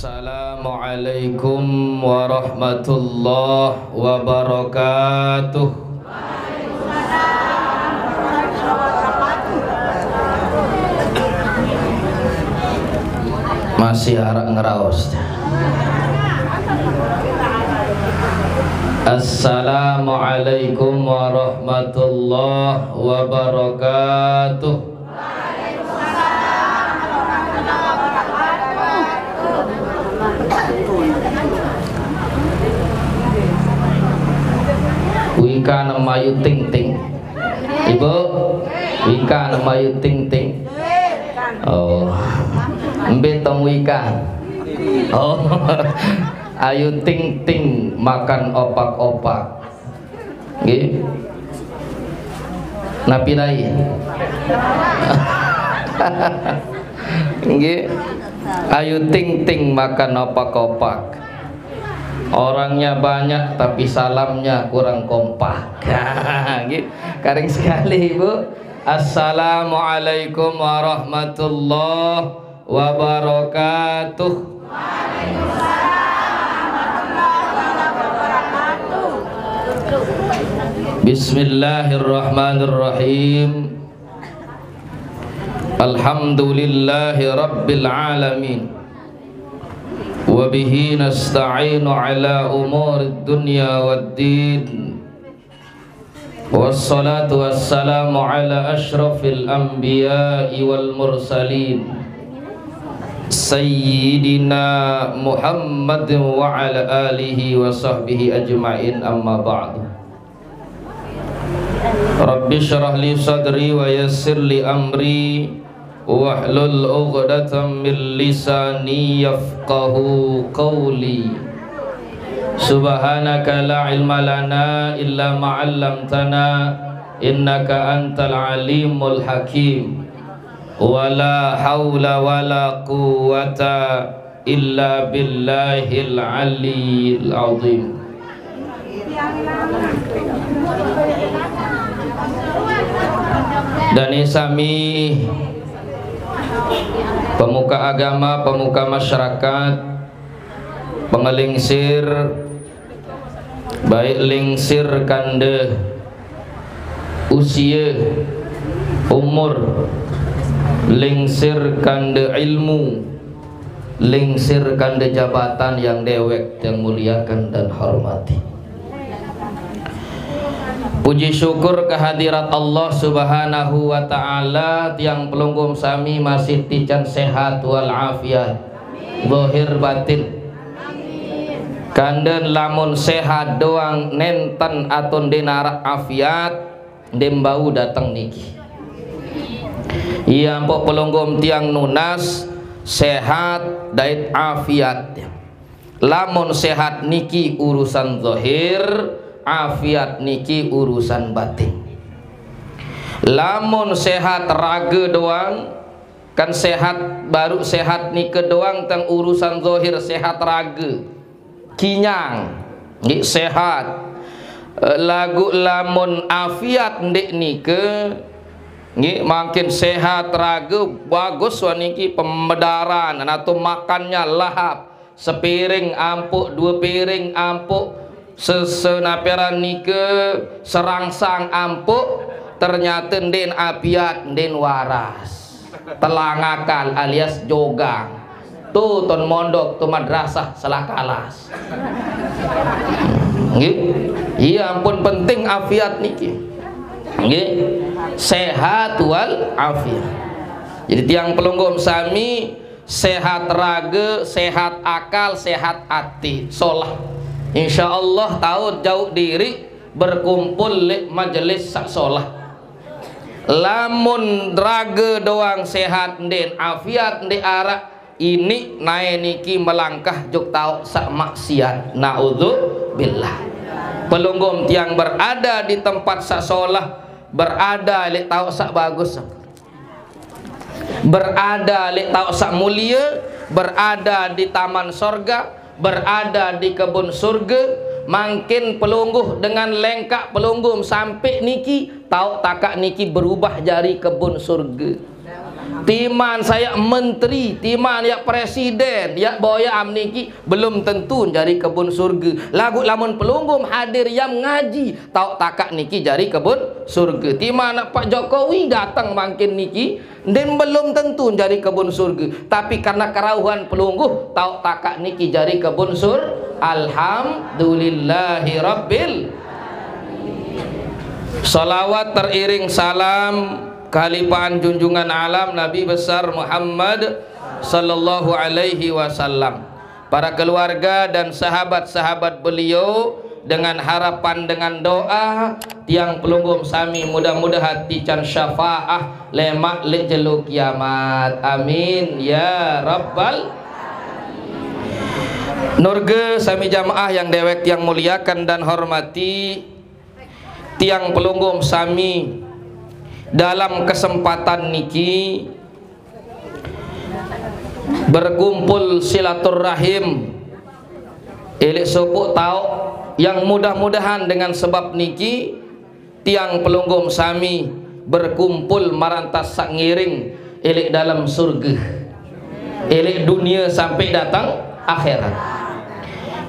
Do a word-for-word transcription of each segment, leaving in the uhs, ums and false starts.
Assalamualaikum warahmatullahi wabarakatuh. Masih araq ngeraos. Assalamualaikum warahmatullahi wabarakatuh. Wika nemayu ting ting. Ibu, Wika nemayu ting ting. Oh. Mbe tong Wika. Oh. Ayu ting ting makan opak-opak. Nggih. Napi rai? Nggih. Ayu ting ting makan opak-opak. Orangnya banyak tapi salamnya kurang kompak. Nggih. Karing sekali, Ibu. Assalamualaikum warahmatullahi wabarakatuh. Bismillahirrahmanirrahim. Alhamdulillahi rabbil alamin. Wa bihi nasta'inu ala umurid dunya waddin. Wassalatu wassalamu ala asyrafil anbiya'i wal mursalin, Sayyidina Muhammad wa ala alihi wa sahbihi ajma'in, amma ba'du. Rabbi syrah li sadri wa yassir li amri, wahlul uqdatam min lisani yafqahu qawli. Subhanaka la ilma lana illa ma 'allamtana, innaka antal alimul hakim. Wa la haula wa la quwwata illa billahil aliyil azim. Dane sami pemuka agama, pemuka masyarakat, pengelingsir, baik lingsir kande usia, umur, lingsir kande ilmu, lingsir kande jabatan yang dewek yang muliakan dan hormati. Puji syukur kehadirat Allah Subhanahu wa Ta'ala, tiang pelungguh sami masih tican sehat wal afiat, zahir batin. Kanden lamun sehat doang nenten atun ndeq naraq afiat, ndeq mbau dateng niki. Iya, mpok pelungguh tiang nunas, sehat dait afiat. Lamun sehat niki urusan zahir, afiat niki urusan batin. Lamun sehat rage doang, kan sehat, baru sehat nike doang tang urusan zahir, sehat rage. Kinyang, nggih, sehat. Eh, laguq lamun afiat ndeq nike, nggih, mangkin sehat rage, bagus wah niki pemedaran, atau makannya lahap. Sepiring ampuq, due piring ampuq, sesenaperan nike serangsang ampuq, ternyate ndeqn apiat, ndeqn waras. Telang akal alias jogang. Tu ton mondok, tu madrasah, selah kalas. Nggih? Iya, ampun penting afiat niki. Nggih? Sehat wal afiat. Jadi tiang pelungguh sami, sehat rage, sehat akal, sehat ati, solah. Insya Allah taun jauq diriq berkumpul leq majelis saq solah. Lamun rage doang sehat, ndeqn afiat, ndeq araq, iniq nae niki melangkah jok taoq saq maksiat. Naudzubillah. Pelungguh tiang berada di tempat saq solah, berada leq taoq saq bagus. Berada leq taoq saq mulie, berada di taman sorga, berada di kebun surge, mangkin pelungguh dengan lengkaq pelungguh sampe niki, taoq takaq niki berubah jari kebun surge. Timan saya menteri, timan ya presiden, ya boya am niki belum tentu jari kebun surga. Lagu lamun pelungguh hadir yam ngaji, tau takak niki jari kebun surga. Timan Pak Jokowi datang mangkin niki, ndin belum tentu jari kebun surga. Tapi karena kerauhan pelungguh, tau takak niki jari kebun sur. Alhamdulillahirabbil. Salawat teriring salam kalipahan junjungan alam Nabi besar Muhammad sallallahu alaihi wasallam. Para keluarga dan sahabat-sahabat beliau, dengan harapan, dengan doa, tiang pelungguh sami mudah-mudahan tican syafaah lemak lek jelo kiamat. Amin ya rabbal. Nurge sami jamaah yang dewek tiang muliakan dan hormati, tiang pelungguh sami dalam kesempatan niki berkumpul silaturahim, elik sopuk tauk, yang mudah-mudahan dengan sebab niki tiang pelungguh sami berkumpul marantas sak ngiring elik dalam surga, elik dunia sampai datang akhirat.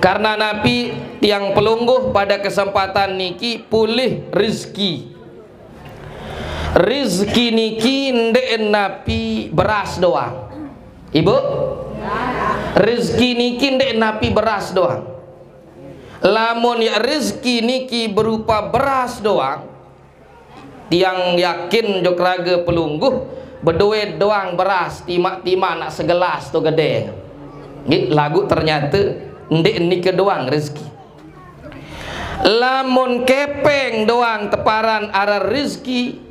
Karena napi tiang pelungguh pada kesempatan niki pulih rizki. Rizki niki ndek napi beras doang. Ibu? Rizki niki ndek napi beras doang. Lamun ya rizki niki berupa beras doang, tiang yakin jok raga pelungguh beduit doang beras, timak-timak nak segelas tu gede. Nggih, lagu ternyata ndek niki doang rizki. Lamun kepeng doang teparan arah rizki,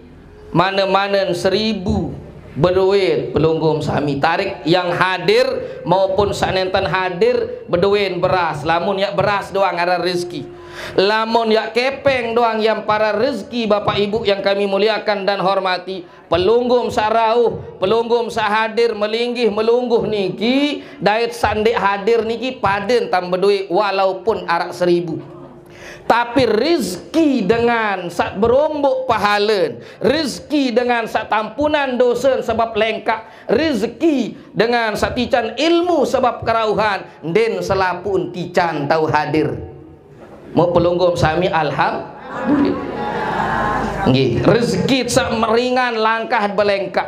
mana-mana seribu beduit pelungguh sami tarik yang hadir maupun sanenten hadir beduit beras. Lamun ya beras doang arah rizki. Lamun ya kepeng doang yang para rizki, Bapak Ibu yang kami muliakan dan hormati, pelungguh sak rauh, pelungguh sak hadir melinggih melungguh niki, dait sak ndek hadir niki paden tam beduit walaupun arak seribu. Tapi rizki dengan sak berombok pahalen, rizki dengan sak tampunan dosen sebab lengkak, rizki dengan sak tican ilmu sebab kerauhan, ndin selapun tican tau hadir. Mau pelungguh sami alhamdulillah. Nggih, rezeki sak meringan langkah belengkak.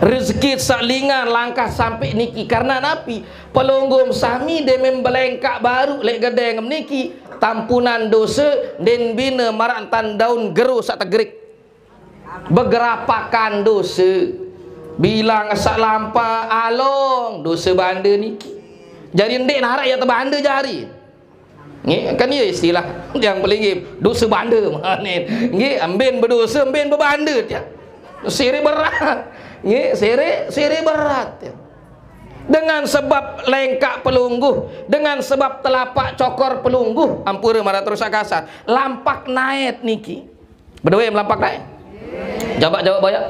Rezeki sak lingan langkah sampai niki. Karena napi? Pelungguh sami demem belengkak baru lek gedeng niki. Tampunan dosa den bina marak tan daun gero sak tegrik. Begerapakan dosa. Bilang sak lampa along dosa banda niki. Jadi ndik narak ya tebanda jari. Nggih, kan iya istilah yang pelinggih, dosa banda. Nggih, ambin berdosa, ambin bebanda ya. Siri berat. Nggih, siri, siri berat ya. Dengan sebab lengkak pelungguh, dengan sebab telapak cokor pelungguh, ampura marah terus kasar. Lampak naet niki. Berdua yang melampak naet. Jawab, jawab banyak.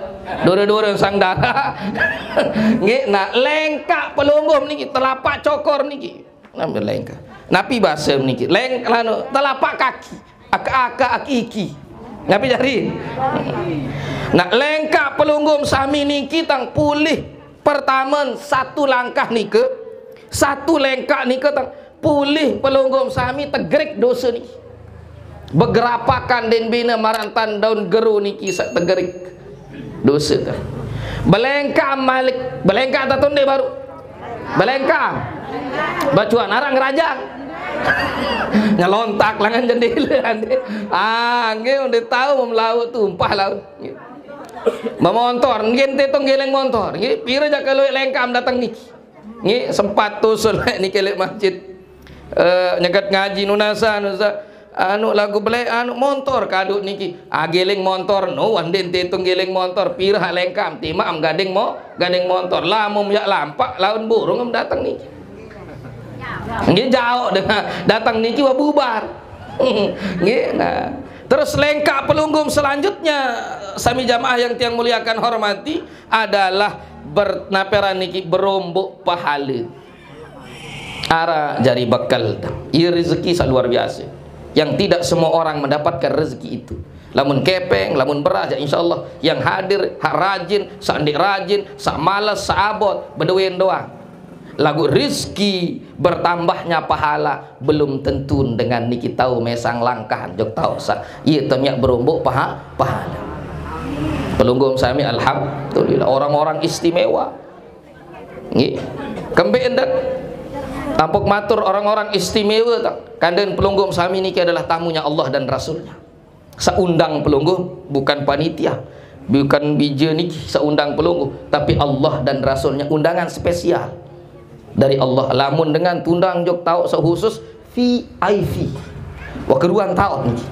Dura-dura sang darah. Nggih, nah lengkak pelungguh niki, telapak cokor niki. Nami lengkak. Napi bahasa niki? Leng, lanu, telapak kaki. Aka-aka, aki-iki. Napi jari? Nah, lengkak pelungguh sami niki tang pulih pertama satu langkah nika. Satu lengkak nika tang pulih pelungguh sami tegrik dosa niki. Begerapakan den bina marantan daun geru niki sak tegrik dosa tang. Belengkak malik, belengkak tatunde baru. Belengkang. Bacuan arang ngerajang. Nyelontak langan jendela ande. Ah, nggih udah tahu mem laut tumpah laut. Memontor, nggih ente tong geleng montor. Nggih, pira jak kalau lengkam datang niki. Nggih, sempat tusul niki lek masjid. Eh, nyegat ngaji nunasa, nunasa. Anu lagu belek anu montor kaduk niki. Ah, geling montor no, wandin tetung geling montor, pira hak lengkam, tima am gading mo, gading montor. Lamun yak lampak laun burung am datang niki. Nggih jauh dengan datang niki wah bubar. Nggih, nah. Terus lengkap pelunggung selanjutnya sami jamaah yang tiang muliakan hormati adalah bernaperan niki berombok pahala. Ara jari bekal. Iya rezeki sak luar biasa. Yang tidak semua orang mendapatkan rezeki itu. Lamun kepeng, lamun beras, ya insyaallah. Yang hadir, hak rajin, saq ndeq rajin, saq males, saq abot, bedoen doang. Laguq rizki bertambahnya pahala belum tentu dengan niki tao mesang langkahan, jok taoq saq. Ie temiaq beromboq paha-, pahala. Pelungguh sami, alhamdulillah, orang-orang istimewa. Nggih. Kembeq endet? Ampok matur orang-orang istimewa, taq. Kanden pelungguh sami niki adalah tamunya Allah dan Rasulnya. Seundang pelungguh, bukan panitia, bukan bije niki seundang pelungguh, tapi Allah dan Rasulnya, undangan spesial dari Allah. Lamun dengan tundang jok taoq sekhusus V I P, wah keruan taoq niki.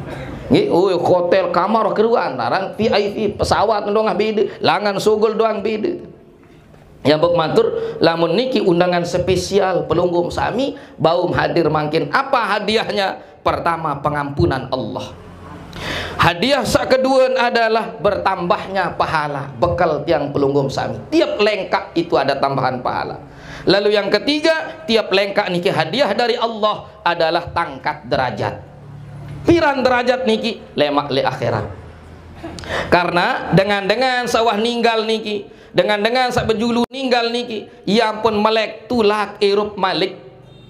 Nggih, oh, hotel kamar wah keruan, aran V I P, pesawat doang bede, langan sugul doang bede. Yang bek matur, lamun niki undangan spesial pelungguh sami, baum hadir mangkin. Apa hadiahnya? Pertama, pengampunan Allah. Hadiah saq keduen adalah bertambahnya pahala, bekal tiang pelungguh sami. Tiap lengkaq itu ada tambahan pahala. Lalu yang ketiga, tiap lengkaq niki hadiah dari Allah adalah tangkat derajat. Piran derajat niki? Lemaq leq akhirat. Karena dengan-dengan saq wah ninggal niki, dengan-dengan saq bejulu ninggal niki, ie ampun meleq tulak irup malik.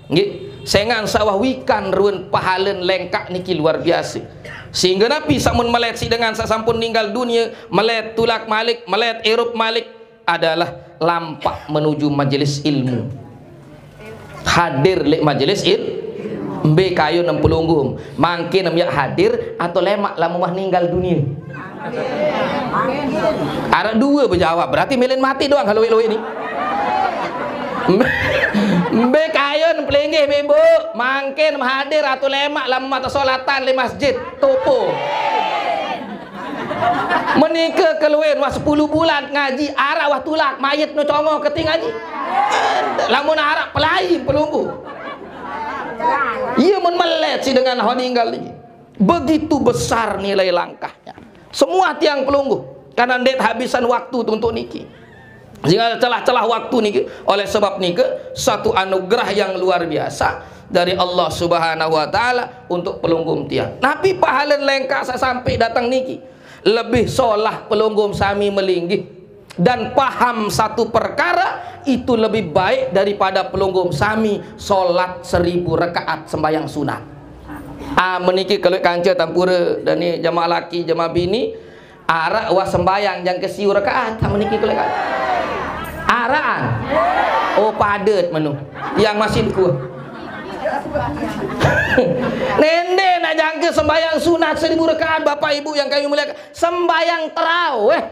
Nggih, sengaq saq wah wikan ruen pahalen lengkaq niki luar biase. Sehingga napi saq mun meleq siq dengan saq sampun ninggal dunie, meleq tulak malik, meleq irup malik, adalah lampaq menuju majelis ilmu. Hadir leq majelis il-, mbe kayun em pelungguh? Mangkin em yaq hadir atau lemaq lamun wah ninggal dunie? Araq due bejawab, berarti melen mati doang kalau lueq-lueq ni. Mbe, mbe kayun pelinggih, Ibu? Mangkin em hadir atau lemaq lamun wah tesolatan leq masjid? Topo. Menike keluin wah sepulu bulan ngaji, araq wah tulak, mayit no congo keti ngaji. Lamun araq pelai pelungguh. Ie mun meleq siq dengan wah ninggal niki. Begitu besar nilai langkahnya. Semua tiang pelungguh, karena ndeq habisan waktu untuk niki. Sehingga celah-celah waktu niki, oleh sebab nike, satu anugerah yang luar biasa dari Allah Subhanahu wa Ta'ala untuk pelungguh tiang. Napi pahalen lengkaq saq sampai dateng niki? Lebih solah pelungguh sami melinggih dan paham satu perkara itu lebih baik daripada pelungguh sami solat seribu rakaat sembahyang sunat. Ah, meniki kelueq kance tampure dani jamaah laki, jamaah bini, araq wah sembahyang jangke siu rakaat, ah, meniki kelueq kance. Araqan. Oh, padet menu. Yang masih kuat. Nende nak jangke sembahyang sunat seribu rakaat, Bapak Ibu yang kami muliakan. Sembahyang terawih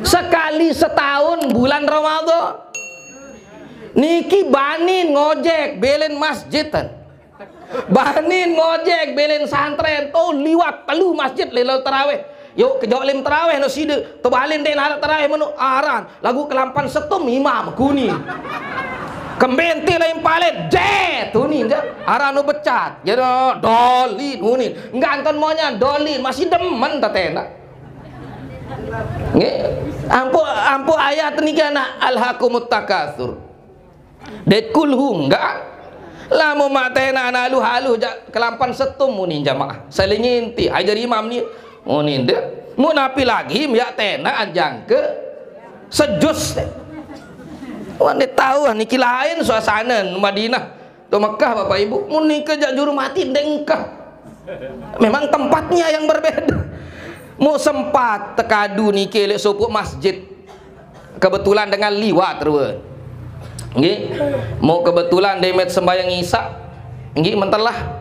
sekali setahun bulan Ramadan. Niki banin ngojek belen masjid, tan. Banin ngojek belen santren, to liwat telu masjid lelo terawih. Yuk, kejok lem terawih no side. Tebalin dek narak terawih menu aran. Lagu kelampan setum imam kuni. Kembenti lain palet, jet, tuni, je. Aran no becat. Jadi, dolin, unin. Enggak anton maunya, dolin. Masih demen tatena. Nggih. Ampu, ampu ayat niki anak alhaqumut takatsur. Det kulhu enggak. Lamun maq tena anak aluh-aluh jaq kelampan setum muni jamaah. Saling inti, ajar imam ni. Muni de. Mun api lagi, miak tena anjang ke sejus. Wan de tahu niki lain suasana Madinah. To Mekah, Bapak Ibu, mun nike jaq juru mati ndeq engkah. Memang tempatnya yang berbeda. Mu sempat tekadu niki leq sopoq masjid. Kebetulan dengan liwat rue. Nggih. Mu kebetulan demet sembahyang Isya. Nggih, mentelah.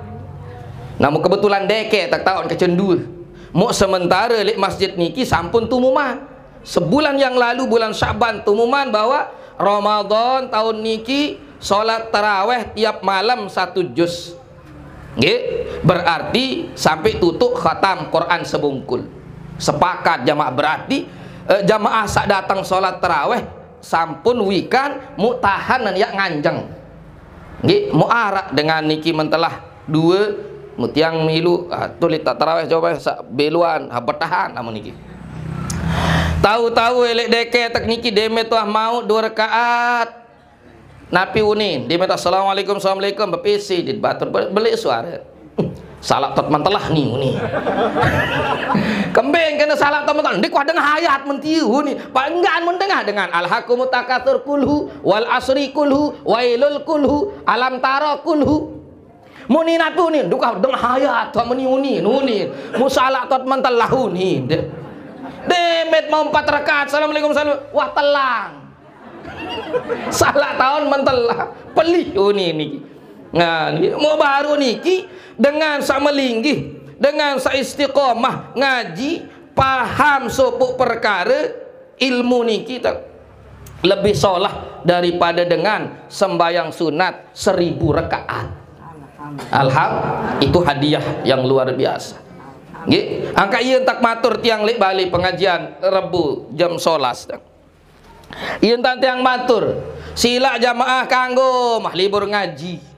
Namun kebetulan deke tak taun kecendue. Mu sementara leq masjid niki sampun tumuman. Sebulan yang lalu, bulan Syaban, tumuman bahwa Ramadan tahun niki salat taraweh tiap malam satu juz. Nggih, berarti sampai tutuq khatam Quran sebungkul. Sepakat jamaah, berarti, eh, jamaah saq dateng salat taraweh sampun wikan mu tahan yaq nganjeng. Nggih, mu araq dengan niki mentelah due, mu tiang milu, ah, tuli tak taraweh coba saq beluan, ah, betahan amun niki. Tahu-tahu eleq deke tek niki demet wah mauq due rakaat. Napi unin, demet assalamualaikum, assalamualaikum, bepisi dit batur, be-, beleq suare. Salak tot mentelah ni uni. Kembing kena salak tot mentelah. Ndik wah dengah ayat mentiu ni. Pak enggan mun dengah dengan alhaakumut takatsur kulhu wal asri kulhu wailul kulhu alam tara kulhu. Muni natu ni, duka dengah ayat tot meni uni, nuni. Musalak tot mentelah uni. De-, demet mau empat rakaat, assalamualaikum, salam. Wah telang. Salak taun mentelah. Pelih uni niki. Nah, niki mau baru niki dengan sak melinggih, dengan sak istiqomah ngaji, paham sopuk perkara ilmu niki tak lebih solah daripada dengan sembahyang sunat seribu rakaat. Alham, itu hadiah yang luar biasa. Nggih, angka iya entak matur tiang lek bali pengajian Rebu jam solas. Iya entak tiang matur, silak jamaah kanggo mah libur ngaji.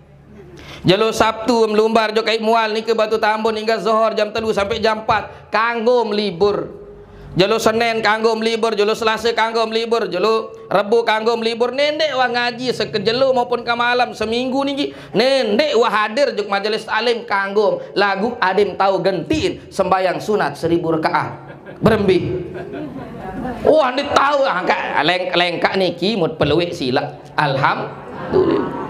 Jelo Sabtu melumbar jo kai mual niki Batu Tambun hingga zohor jam telu sampai jam empat kanggo melibur. Jelo Senin kanggo melibur, jelo Selasa kanggo melibur, jelo Rebu kanggo melibur. Nendek wah ngaji sekejelo maupun ke malam seminggu niki. Nendek wah hadir juk majelis taklim kanggo lagu adem tahu gentiin sembahyang sunat seribu rakaat. Berembe. Wah, ndik tahu angka leng-, lengkak niki mut peluik silak. Alhamdulillah.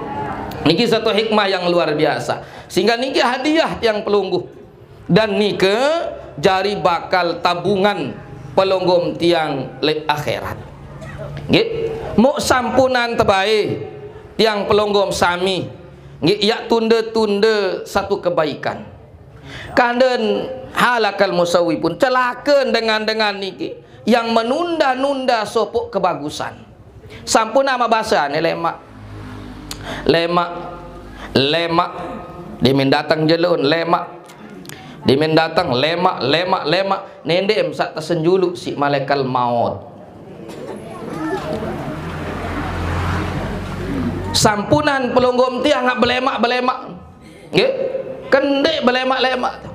Niki satu hikmah yang luar biasa. Sehingga niki hadiah tiang pelungguh. Dan nike jari bakal tabungan pelonggom tiang lek akhirat. Nggih, muk sampunan tebae tiang pelonggom sami nggih yak tunda-tunda satu kebaikan. Kanden halakal musawifun, celaka dengan-dengan niki yang menunda-nunda sopok kebagusan. Sampun ama basa ane lemak. Lemak. Lemak. Dimin datang jelun, lemak. Dimin datang, lemak, lemak, lemak. Nende em sak tersenjulu si malaikat maut. Sampunan pelonggom tiang ngak belemak-belemak. Nggih. Kendek belemak-lemak.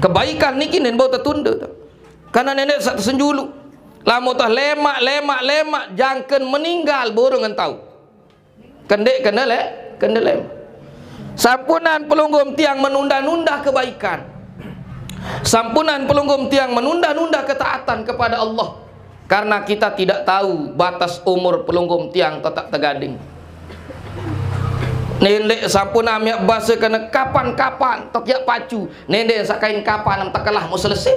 Kebaikan niki nen bau tertunda. Karena nende sak tersenjulu. Lamun tah lemak, lemak, lemak, jangken meninggal burung entau. Kendek kena le, kena lem. Sampunan pelunggum tiang menunda-nunda kebaikan. Sampunan pelunggum tiang menunda-nunda ketaatan kepada Allah. Karena kita tidak tahu batas umur pelunggum tiang tetap tegading. Nendek sampun amiak basa kena kapan-kapan tok yak pacu. Nendek sak kain kapan am tekelah mau selesai.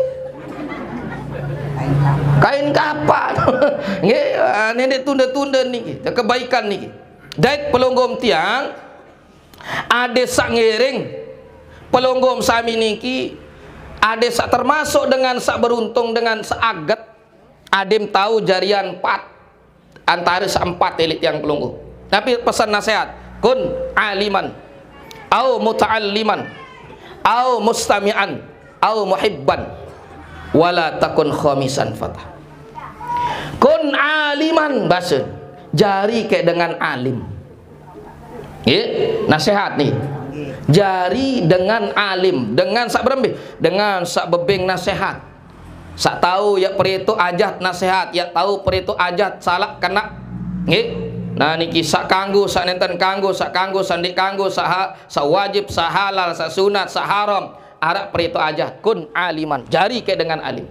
Kain kapan. Nggih, ah, nendek tunda-tunda niki, kebaikan niki. Dait pelonggom tiang, ade sak ngiring pelonggom sami niki, ade sak termasuk dengan sak beruntung, dengan sak aget, adem tahu jarian empat antara sak empat elit tiang pelonggom. Tapi pesan nasihat, kun aliman, au muta'alliman, au mustami'an, au muhibban, wala takun khamisan fatah. Kun aliman, basa, jari kayak dengan alim. Nggih, nasihat nih. Jari dengan alim, dengan sak berembih, dengan sak bebeng nasihat. Sak tahu yak perito ajat nasihat, yak tahu perito ajat salak kena. Nggih. Nah niki sak kanggo, sak nenten kanggo, sak kanggo, sak ndik kanggo, sak ha-, sak wajib, sak halal, sak sunat, sak haram. Arak perito ajat kun aliman. Jari kayak dengan alim.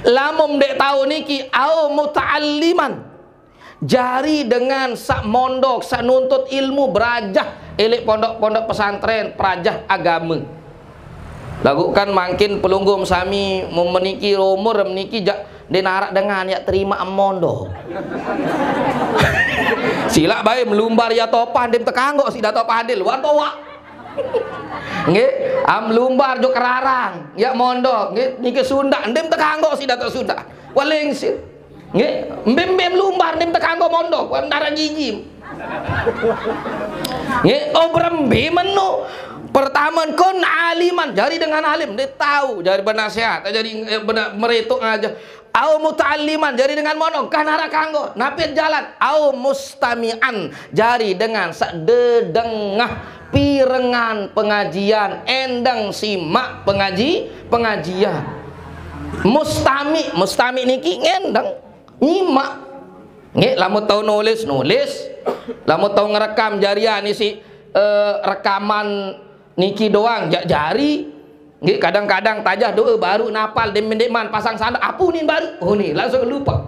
Lamun dek tahu niki au muta'alliman. Jari dengan sak mondok, sak nuntut ilmu, berajah elik pondok-pondok pesantren, perajah agama. Lagu kan makin pelunggum sami memeniki umur meniki jak denarak dengan yak terima em mondok. Silak bae melumbar ya topan dem tekanggo si dato padil wan toa. Nggih, am lumbar jo kerarang yak mondok nggih niki sundak dem tekanggo si dato sundak. Waling sih. Nggih, mbim-mbim lumbar nim tekanggo mondok, wan darah gigi. Nggih, oh berembe menu. Pertama kun aliman, jari dengan alim, dia tahu, jari bernasehat, jari eh, bena-, meretuk aja. Au muta'alliman, jari dengan mondok, kan arah kanggo, napit jalan. Au mustami'an, jari dengan sak dedengah pirengan pengajian, endang simak pengaji, pengajian. Mustami, mustami niki ngendang nyimak. Nggih, lamun tau nulis, nulis. Lamun tau ngerekam jarian isi eh, rekaman niki doang, jak jari. Nggih, kadang-kadang tajah doa baru napal, dem-, demen pasang sandal, apa unin baru? Oh, ni langsung lupa.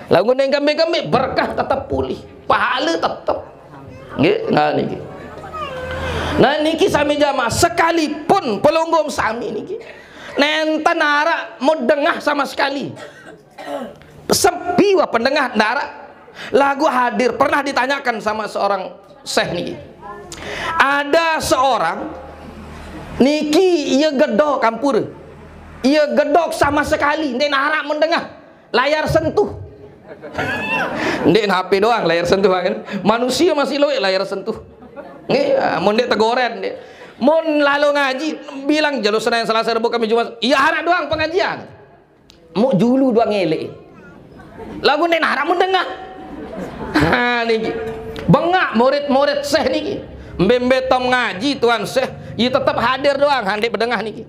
Lagu neng kembik-kembik, berkah tetap pulih, pahala tetap. Nggih, nah niki. Nah niki sami jamaah, sekalipun pelungguh sami niki nenten arak mau dengah sama sekali. Sepi wah pendengah ndak arak. Lagu hadir, pernah ditanyakan sama seorang syekh niki. Ada seorang niki ia gedok kampur. Ia gedok sama sekali ndak arak mau dengah. Layar sentuh. Ndak H P doang layar sentuh kan. Manusia masih loe layar sentuh. Nggih, ah, mun ndak tegoren ndak. Mun lalu ngaji, bilang jelo Senin, Selasa, Rebo, Kamis, Jumat. Iya, arak doang pengajian. Mau julu doang ngelek. Lagu ndak arak mau dengah. Ha niki. Bengak murid-murid syekh niki. Mbe-mbe tom ngaji tuan syekh, ia tetap hadir doang hande bedengah niki.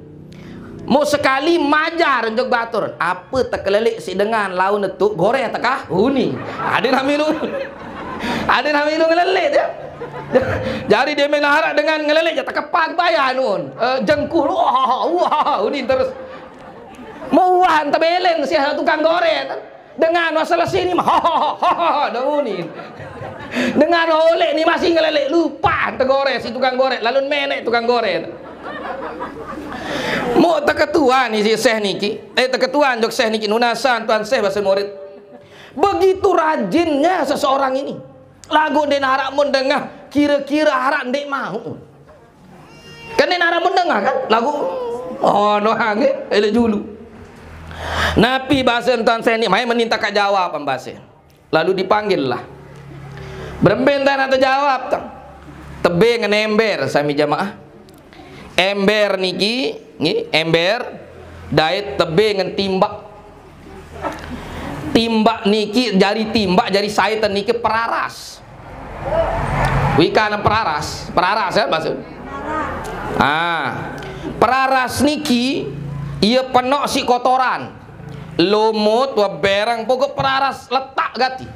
Mau sekali majar njok batur, apa tekelelik si dengan laun netuk goreh tekah huni. Ada nami lu. Ada nami lu ngelelek ya. Jadi dia main arak dengan ngelelek ya, tekepag bayar nun. Eh, jengkul, wah, wah, huni terus. Mau uahan tebeleng si tukang goreh. Dengan masalah sini mah, ha, ha, ha, ha, ha, dah huni. Dengan oleh ni masih ngelelek, lupa tegoreh si tukang goreh, lalu menek tukang goreh. Mau teketuan ni si syekh niki, eh, teketuan jok syekh niki, nunasan tuan syekh bahasa murid. Begitu rajinnya seseorang ini. Lagu ndak arak mau dengah, kira-kira arak ndak mau. Kan ndak arak mau dengah kan? Lagu, oh, no, nggih, elek julu. Napi bahasa tuan syekh ni, mai meninta ka jawab bahasa. Lalu dipanggil lah. Berembe ndak nak terjawab tang. Tebe ngen ember sami jamaah. Ember niki, nggih, ember dait tebe ngen timbak. Timbak niki, jari timbak, jari saitan niki peraras. Wikan peraras, peraras ya maksud. Ah, peraras niki ia penok si kotoran. Lumut, webereng, pokok peraras letak gati.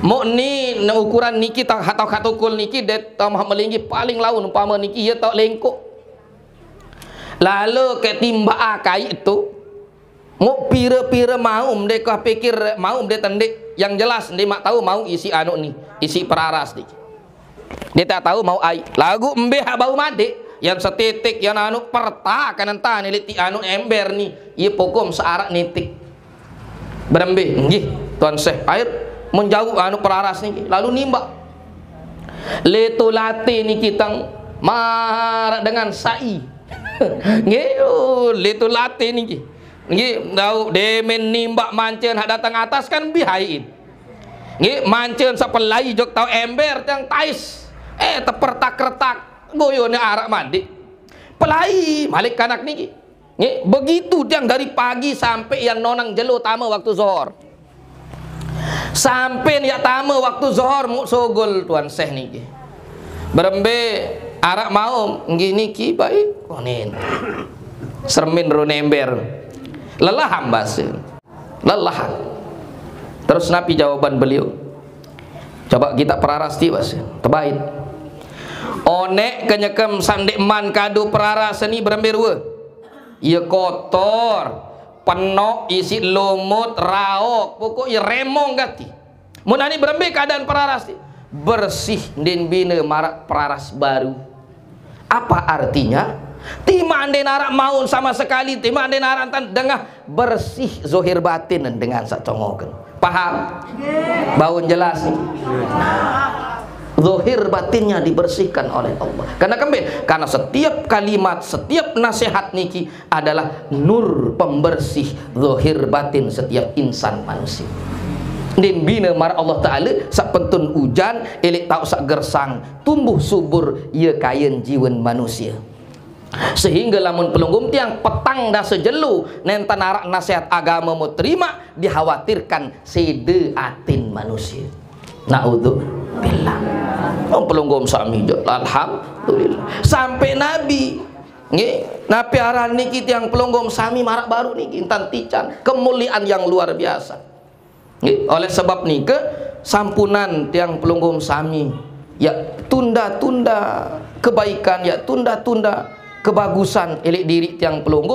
Mok ni, ne ukuran niki tau, tau katukul niki, det tau maha melinggi paling laun umpama niki ia tau lengkok. Lalu ke timbak akai tu, mok pira-pira mau mde kah pikir mau mde tendik, yang jelas nde mak tahu mau isi anu ni, isi peraras ni. Dia tak tahu mau ai. Lagu mbe hak bau madik, yang setetek, yang anu perta kanan tani liti anu ember ni, ia pokom searak nitik. Berembe, nggih, tuan syekh. Air menjauh anu peraras ni, lalu nimbak. Leto late ni kitang marak dengan sai. Nggih, oh, leto late ni nggih. Nggih, tau demen nimbak mancen hak datang atas kan bihaiin. Nggih, mancen sapelai jok tau ember tang tais. Eh, tepertak-retak, goyone arak madik. Pelai malik kanak niki. Nggih, begitu tiang dari pagi sampai yang nonang jelo tama waktu zohor. Sampai yang tama waktu zohor muk sogol tuan syekh niki. Berembe arak maum, nggih niki baik. Konen. Sermin ro nember. Lelah hamba sih. Lelah. Terus napi jawaban beliau? Coba kita peraras ti bas. Tebait. Onek kenyekem sandek man kado peraras seni berembe rua. Ia kotor, penok isi lumut, raok, pokok ia remong gati. Mun ani berembe keadaan peraras ti? Bersih, ndin bina marak peraras baru. Apa artinya? Tima ande narak maun sama sekali, tima ande narak tan dengah, bersih zohir batin dengan sak congoken. Paham? Baun jelas ni. Zohir batinnya dibersihkan oleh Allah. Karena kembe, karena setiap kalimat, setiap nasihat niki adalah nur pembersih zohir batin setiap insan manusia. Din bina mar Allah Ta'ala sak pentun ujan, elek tau sak gersang, tumbuh subur ia kain jiwen manusia. Sehingga lamun pelunggum tiang petang dasa jelo nenten arak nasihat agama mau terima, dikhawatirkan sede atin manusia. Naudzubillah. Oh, pelunggum sami jo. Alhamdulillah. Sampai Nabi. Nggih, napi aran niki tiang pelunggum sami marak baru niki intan tican. Kemuliaan yang luar biasa. Nggih, oleh sebab nika sampunan tiang pelunggum sami ya tunda-tunda kebaikan, ya tunda-tunda kebagusan elek diri tiang pelungguh,